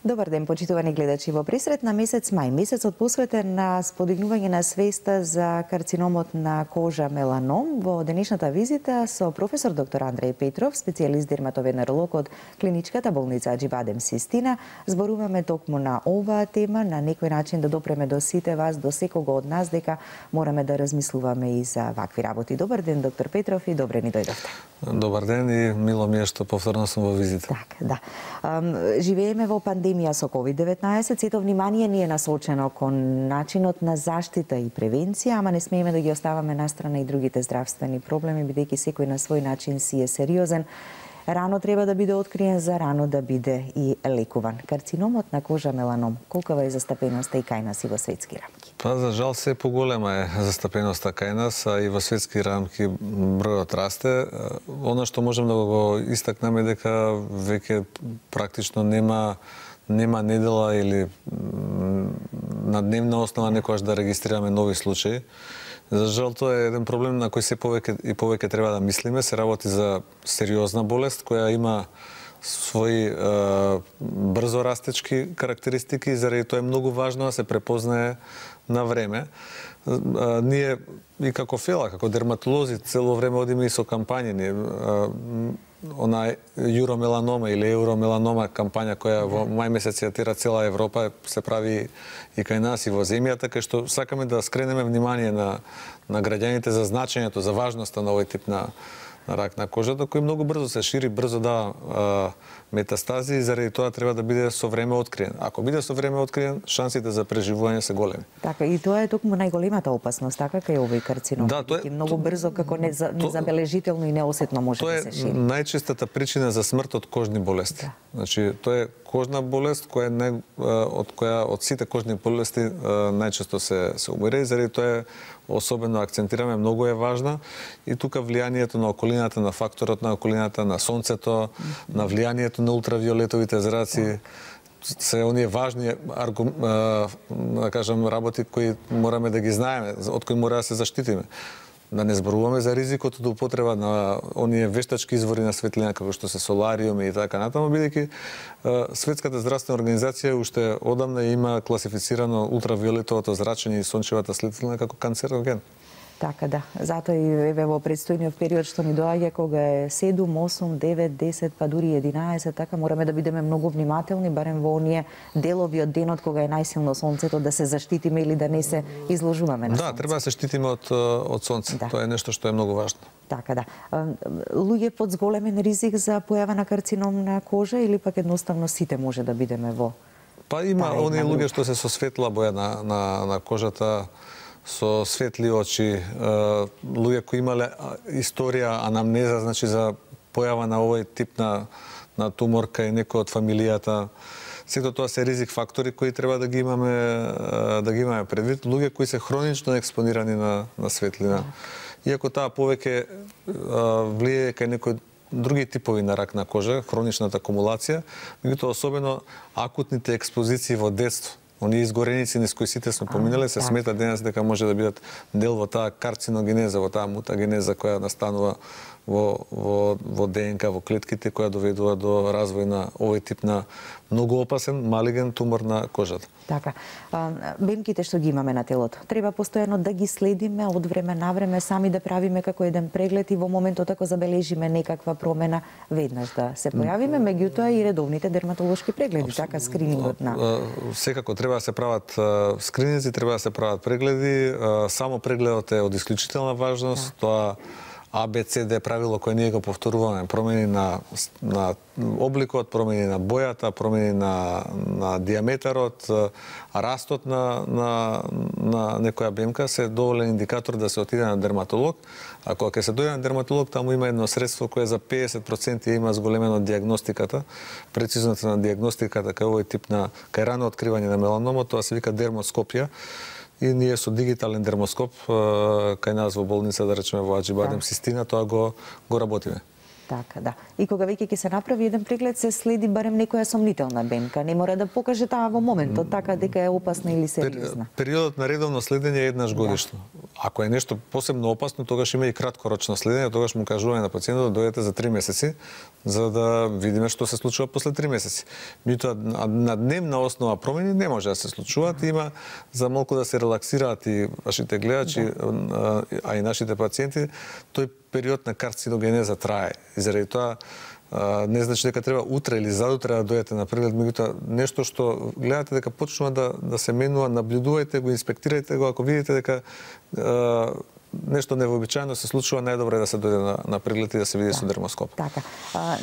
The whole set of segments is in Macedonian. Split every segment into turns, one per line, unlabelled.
Добар ден, почитувани гледачи. Во пресред на месец мај, месецот посветен на сподигнување на свеста за карциномот на кожа меланом, во денешната визита со професор доктор Андреј Петров, специјалист дерматовенеролог од клиничката болница Аџибадем Систина, зборуваме токму на оваа тема, на некој начин да допреме до сите вас, до секого од нас, дека мораме да размислуваме и за вакви работи. Добар ден, доктор Петров, и добре ни дојдовте.
Добар ден и мило ми е што повторно сум во визита.
Така, да. Живееме во пандемија со COVID-19, сето внимание ни е насочено кон начинот на заштита и превенција, ама не смееме да ги оставаме настрана и другите здравствени проблеми, бидејќи секој на свој начин си е сериозен. Рано треба да биде откриен, за рано да биде и лекуван. Карциномот на кожа меланом, колкава е застапеноста и кај нас и во светски рамки?
Па, за жал, се поголема е застапеноста кај нас, а и во светски рамки бројот расте. Оно што можем да го истакнеме дека веќе практично нема недела или на дневна основа некогаш да регистрираме нови случаи. За жал, тоа е еден проблем на кој се повеќе треба да мислиме. Се работи за сериозна болест која има своји брзо растечки карактеристики и заради тоа е многу важно да се препознае на време. Ние и како ФЕЛА, како дерматолози, цело време одиме и со кампањи. Она Юромеланома или Евромеланома кампања која во мај месец ја тера цела Европа, се прави и кај нас и во земјата, кај што сакаме да скренеме внимание на граѓаните за значењето, за важноста на овој тип на рак на кожата, кој многу брзо се шири, брзо дава метастази и заради тоа треба да биде со време откриен. Ако биде со време откриен, шансите за преживување се големи.
Така, и тоа е токму најголемата опасност, така кај овој карцином.
Да, тоа е
многу брзо, како незабележително и неосетно може да се шири.
Тоа е најчестата причина за смрт од кожни болести. Да. Значи, тоа е кожна болест која од сите кожни болести најчесто се умира и заради тоа е особено акцентираме, многу е важна и тука влијанието на околината, на факторот на околината, на сонцето, на влијанието на ултравиолетовите зраци, се оние важни да кажам работи кои мораме да ги знаеме, од кои мора да се заштитиме. Да не зборуваме за ризикот од употреба на оние вештачки извори на светлина како што се солариуми и така натаму, бидејќи Светската здравствена организација уште одамна има класифицирано ултравиолетовото зрачење и сончевата светлина како канцероген.
Така, да. Затоа и еве во предстојниот период што ни доаѓа, кога е 7, 8, 9, 10, па дури 11, така мораме да бидеме многу внимателни, барем во оние делови од денот кога е најсилно сонцето, да се заштитиме или да не се изложуваме на сонце.
Да, треба да се штитиме од сонце. Да. Тоа е нешто што е многу важно.
Така, да. Луѓе под зголемен ризик за појава на карцином на кожа или пак едноставно сите може да бидеме во?
Па има оние луѓе што се со светла боја на кожата, со светли очи, луѓе кои имале историја, анамнеза, значи за појава на овој тип на тумор кај некој од фамилијата. Сето тоа се ризик фактори кои треба да ги имаме предвид. Луѓе кои се хронично експонирани на светлина. Иако таа повеќе влијае кај некои други типови на рак на кожа, хроничната акумулација, меѓутоа особено акутните експозиции во детство. Оние изгореници низ кои сите сме поминале, се смета денес дека може да бидат дел во таа карциногенеза, во таа мутагенеза која настанува во ДНК, во клетките, која доведува до развој на овој тип на многу опасен малиген тумор на кожата.
Така. Бемките што ги имаме на телото, треба постојано да ги следиме од време на време, сами да правиме како еден преглед и во моментот ако забележиме некаква промена, веднаш да се појавиме, меѓутоа и редовните дерматолошки прегледи, така скринингот на...
Секако треба да се прават скрининзи, треба да се прават прегледи, само прегледот е од исклучителна важност, тоа ABCD правило кое ние го повторуваме, промени на обликот, промени на бојата, промени на диаметарот, растот на некоја бемка се доволен индикатор да се отиде на дерматолог. А кога ќе се дојде на дерматолог, таму има едно средство кое за 50% има зголемено диагностиката, прецизната на диагностиката кај овој тип кај рано откривање на меланомот, тоа се вика дермоскопија. И ние со дигитален дермоскоп кај нас во болница, да речеме во Аџибадем Систина, тоа го работиме.
Така, да. И кога веќе ќе се направи еден преглед, се следи барем некоја сомнителна бемка. Не мора да покаже таа во моментот, така дека е опасна или сериозна.
Периодот на редовно следење е еднаш годишно. Ако е нешто посебно опасно, тогаш има и краткорочно следење, тогаш му кажуваме на пациентот да дојдете за 3 месеци, за да видиме што се случува после 3 месеци. Меѓутоа на дневна основа промени не може да се случуваат, има за малку да се релаксираат и вашите гледачи, а и нашите пациенти, тој период на карциногенеза трае. И заради тоа не значи дека треба утре или задутре да дојдете на преглед, меѓутоа нешто што гледате дека почнува да се менува, наблюдувајте го, инспектирајте го, ако видите дека нешто невообичаено се случува, најдобро е да се дојде на преглед и да се види со дермоскоп.
Така.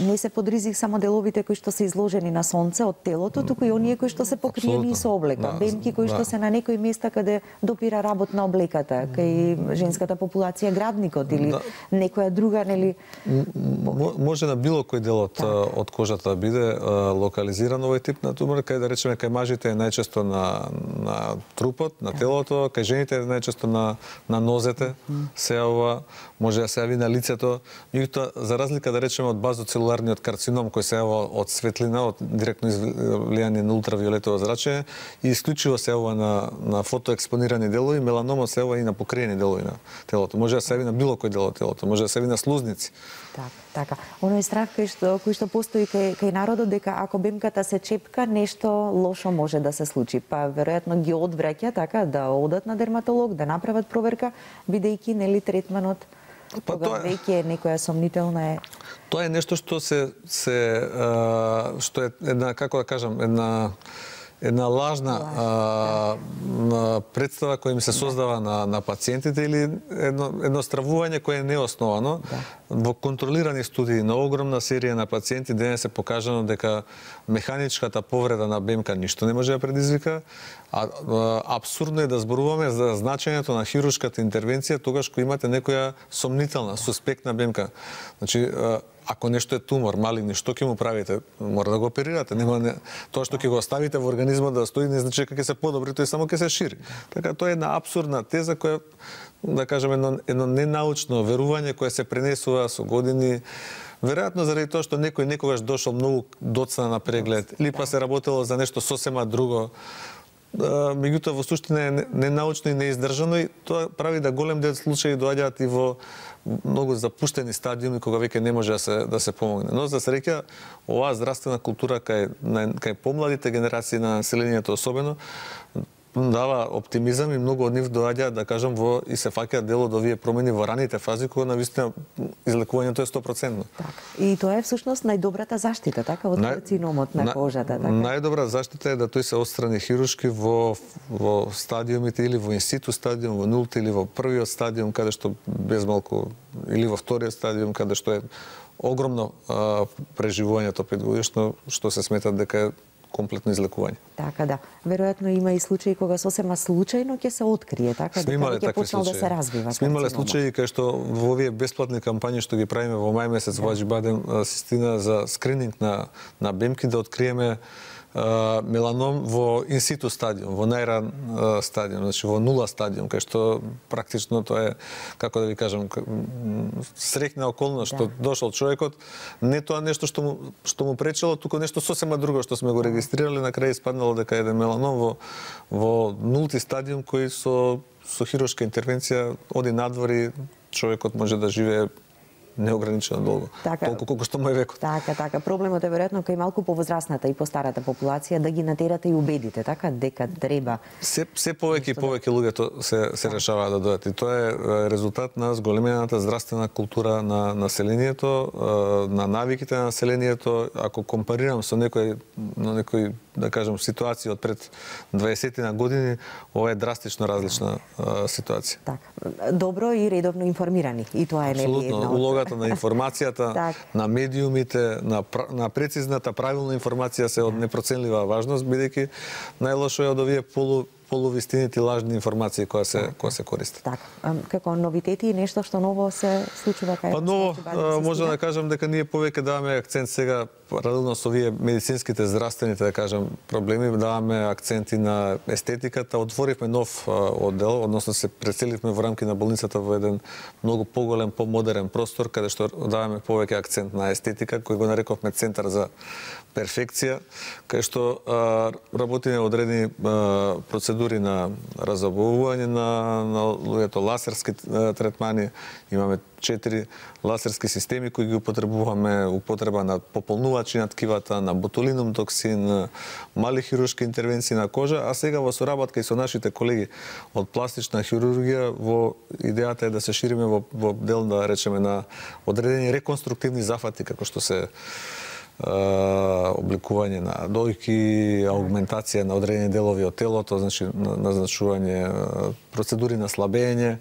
Не се под ризик само деловите кои што се изложени на сонце од телото, туку и оние кои што се покриени со облека. Бемки кои што се на некои места каде допира работ на облеката, кај женската популација градникот или некоја друга, нели?
Може на било кој дел од кожата да биде локализиран овој тип на тумор, кај да речеме кај мажите е најчесто на трупот, на телото, кај жените е најчесто на нозете. Се јавува, може да се јави на лицето, меѓутоа за разлика да речеме од базоцелуларниот карцином кој се јавува од светлина, од директно влијание на ултравиолетово зрачење и исклучиво се јавува на фотоекспонирани делови, меланомот се јавува и на покриени делови на телото. Може да се јави на било кој дел од телото, може да се јави на слузници.
Така. Оној страх кој што постои кај народот дека ако бемката се чепка, нешто лошо може да се случи. Па веројатно ги одвраќа така да одат на дерматолог, да направат проверка, бидејќи нели третманот кога веќе некоја сомнителна е.
Тоа е нешто што што е една, како да кажам, една лажна представа која им се создава на пациентите или едно стравување кое е неосновано. Во контролирани студии на огромна серија на пациенти денес е покажано дека механичката повреда на бемка ништо не може да предизвика, а апсурдно е да зборуваме за значењето на хируршката интервенција тогаш кога имате некоја сомнителна, суспектна бемка. Значи, ако нешто е тумор, малигни, што ќе му правите? Мора да го оперирате. Тоа што ќе го оставите во организмот да стои не значи дека ќе се подобри, тој само ќе се шири. Така тоа е една апсурдна теза која, да кажем, едно ненаучно верување кое се пренесува со години. Веројатно заради тоа што некој некогаш дошол многу доцна на преглед или па се работело за нешто сосема друго. Меѓутоа во суштина е ненаучно и неиздржано и тоа прави да голем дел случаи доаѓаат и во многу запуштени стадиуми кога веќе не може да се помогне. Но за среќа оваа здравствена култура кај помладите генерации на населението особено дава оптимизам и многу од нив доаѓаат, да кажам, и се фаќаат дел од овие промени во раните фази кога навистина излекувањето е 100%.
Така. И тоа е всушност најдобрата заштита, така, од карциномот на кожата, така.
Најдобра заштита е да тој се отстрани хируршки во стадиумите или во инситу стадиум, во нулти или во првиот стадиум каде што без малку или во вториот стадиум каде што е огромно преживувањето 5 годишно, што се смета дека е комплетно излекување.
Така, да. Веројатно има и случаи кога сосема случајно ќе се открие, така, дека ќе почнал да се развива.
Сме имале случаи кај што во овие бесплатни кампањи што ги правиме во мај месец во Аџибадем систина за скрининг на бемки да откриеме меланом во инситу стадиум, во најран стадиум, значи во нула стадиум, кај што практично тоа е, како да ви кажам, среќна околност што дошол човекот, не тоа нешто што му пречело, туку нешто сосема друго што сме го регистрирали, на крај испаднало дека е меланом во нулти стадиум кој со хируршка интервенција оди надвор, човекот може да живее неограничено долго, толку колку што му е векот.
Така. Проблемот е веројатно кај малку повозрастната и постарата популација да ги натерате и убедите, така, дека треба.
Се повеќе и повеќе луѓето се решаваат да дојдат. И тоа е резултат на зголемената здравствена култура на населението, на навиките на населението. Ако компарирам со некој, да кажем, ситуација од пред 20 на години, ова е драстично различна ситуација.
Така. Добро и редовно информирани. И тоа е нели една
од на информацијата, на медиумите, на прецизната, правилна информација се од непроценлива важност, бидејќи најлошо е од овие полувистините и лажни информации кои се користат.
Така. Како новитети и нешто што ново се случува кај
Па ново, може да кажам дека ние повеќе даваме акцент сега паралелно со овие медицинските, здравствените, да кажам, проблеми, даваме акценти на естетиката. Отворивме нов оддел, односно се преселивме во рамки на болницата во еден многу поголем, помодерен простор, каде што даваме повеќе акцент на естетика, кој го нарековме Центар за перфекција, кај што работиме одредени процедури на разобувување на луѓето, ласерски третмани, имаме 4 ласерски системи кои ги употребуваме, употреба на пополнувачи на ткивата, на ботулином токсин, мали хируршки интервенции на кожа, а сега во соработка и со нашите колеги од пластична хирургија, во идејата е да се шириме во дел, да речеме, на одредени реконструктивни зафати, како што се обликување на дојки, аугментација на одредени делови од телото, значи назначување процедури на слабење,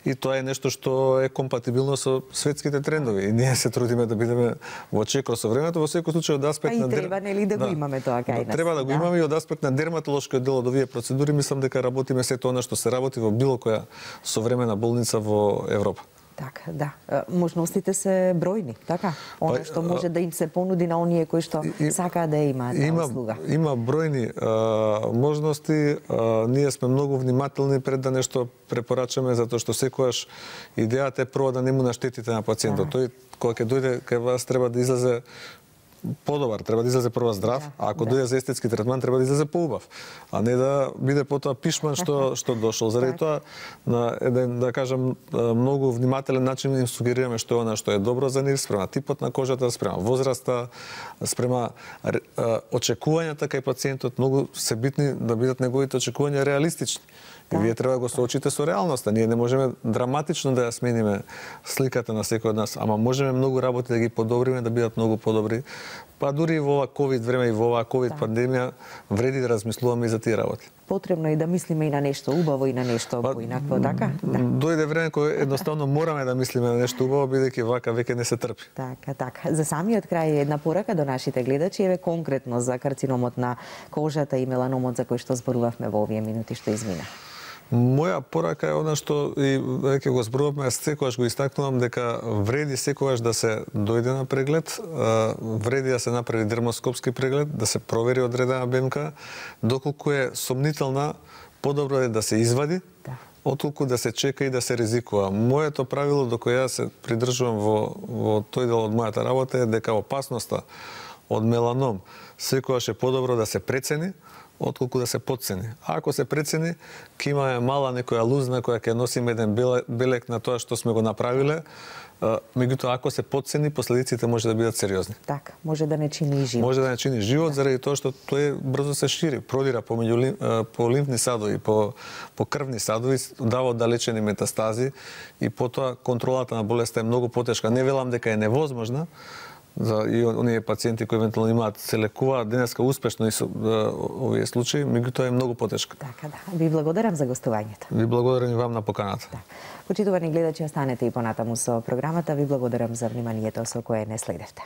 и тоа е нешто што е компатибилно со светските трендови и ние се трудиме да бидеме во чекор со времето. Во секој случај од аспект на
треба нели да го имаме тоа кај нас.
Треба да го имаме и од аспект на дерматолошкиот дел од овие процедури, мислам дека работиме сето она што се работи во било која современа болница во Европа.
Така, да. Можностите се бројни, така? Оно што може да им се понуди на оние кои што сакаат да имаат таа услуга.
Има бројни можности. Ние сме многу внимателни пред да нешто препорачаме, затоа што секогаш идејата е прво да не му наштетите на пациентот. Тој кога ќе дојде кај вас треба да излезе подобар, треба да излезе прво здрав, а ако дојде за естетски третман треба да излезе поубав, а не да биде потоа пишман што дошол. Заради тоа на еден, да кажам, многу внимателен начин им сугерираме што е она што е добро за нив, спрема типот на кожата, спрема возраста, спрема очекувањата кај пациентот, многу се битни да бидат неговите очекувања реалистични. И вие треба да го соочите со реалноста. Ние не можеме драматично да ја смениме сликата на секој од нас, ама можеме многу работи да ги подобриме, да бидат многу подобри. Па дури и во ова ковид време и во оваа ковид пандемија вреди да размислуваме и за тие работи.
Потребно е да мислиме и на нешто убаво и на нешто поинакво, така?
Дојде време кое едноставно мораме да мислиме на нешто убаво, бидејќи вака веќе не се трпи.
Така. За самиот крај една порака до нашите гледачи, еве конкретно за карциномот на кожата и меланомот за кој што зборувавме во овие минути што измина.
Моја порака е она што и веќе го зборувавме, секогаш го истакнувам дека вреди секогаш да се дојде на преглед, вреди да се направи дермоскопски преглед, да се провери одредена БМК, доколку е сомнителна, подобро е да се извади, отколку да се чека и да се ризикува. Моето правило до кое јас се придржувам во тој дел од мојата работа е дека опасноста од меланом секогаш е подобро да се прецени, отколку да се потцени. А ако се прецени, ќе имаме мала некоја лузна која ќе носиме еден белек на тоа што сме го направиле, меѓутоа ако се потцени, последиците може да бидат сериозни.
Така, може да не чини и живот.
Може да не чини живот заради тоа што тој брзо се шири, продира по лимфни садови, по крвни садови, дава оддалечени метастази и потоа контролата на болеста е многу потешка. Не велам дека е невозможна, за и оние пациенти кои евентуално имаат се лекуваат денеска успешно и со овие случаи, меѓутоа е многу потешка.
Така, да. Ви благодарам за гостувањето.
Ви благодарам и вам на поканата.
Почитувани гледачи, останете и понатаму со програмата. Ви благодарам за вниманието со кое не следевте.